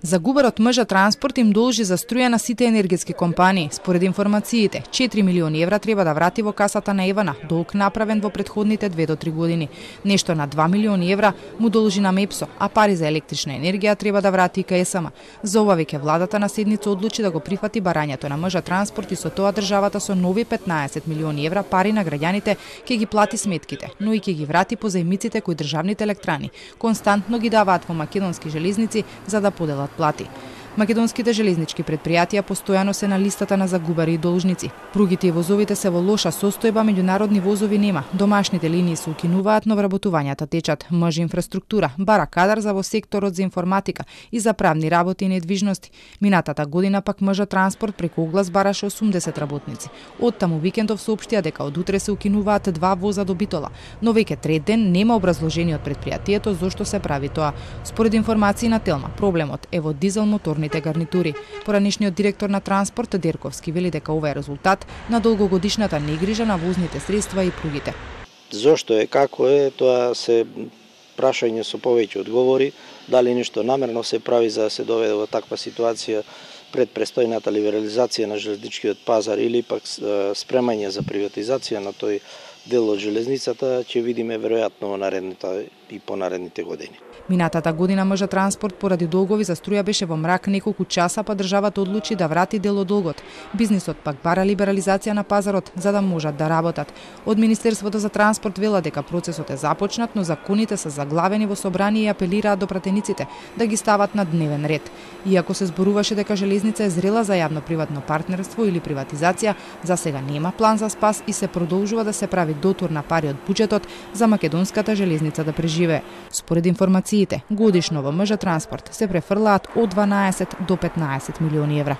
Загубарот МЖ Транспорт им должи за струја на сите енергетски компании. Според информациите, 4 милиони евра треба да врати во касата на Евана, долг направен во претходните 2 до 3 години. Нешто на 2 милиони евра му должи на МЕПСО, а пари за електрична енергија треба да врати и КСМ. За ова веќе владата на седница одлучи да го прифати барањето на МЖ Транспорт и со тоа државата со нови 15 милиони евра пари на граѓаните ќе ги плати сметките, но и ќе ги врати позајмиците кои државните електрани константно ги даваат во македонски железници за да поделат плати. Македонските железнички предпријатија постојано се на листата на загубари и должници. Пругите и возовите се во лоша состојба, меѓународни возови нема. Домашните линии се укинуваат, но вработувањата течат. МЖ Инфраструктура бара кадар за во секторот за информатика и за правни работи и недвижности. Минатата година пак МЖ Транспорт преку оглас бараше 80 работници. Оттаму Викендов соопштија дека од утре се укинуваат 2 воза до Битола, но веќе трет ден нема образложение од предпријатието зошто се прави тоа. Според информации на Телма, проблемот е во дизел моторните гарнитури. Поранешниот директор на Транспорт Дерковски вели дека ова е резултат на долгогодишната негрижа на возните средства и пругите. Зошто е, како е, тоа се прашање со повеќе одговори, дали нешто намерно се прави за да се доведе во таква ситуација пред престојната либерализација на железничкиот пазар или пак спремање за приватизација на тој дел од железницата, ќе видиме веројатно во наредните и понаредните години. Минатата година МЖ Транспорт поради долгови за струја беше во мрак неколку часа, па државата одлучи да врати дел од долгот. Бизнисот пак бара либерализација на пазарот за да можат да работат. Од Министерството за транспорт вела дека процесот е започнат, но законите се заглавени во собрание и апелираат до пратениците да ги стават на дневен ред. Иако се зборуваше дека железница е зрела за јавно-приватно партнерство или приватизација, за сега нема план за спас и се продолжува да се прави дотур на пари од буџетот за македонската железница да преживее. Според информациите, годишно во МЖ Транспорт се префрлаат од 12 до 15 милиони евра.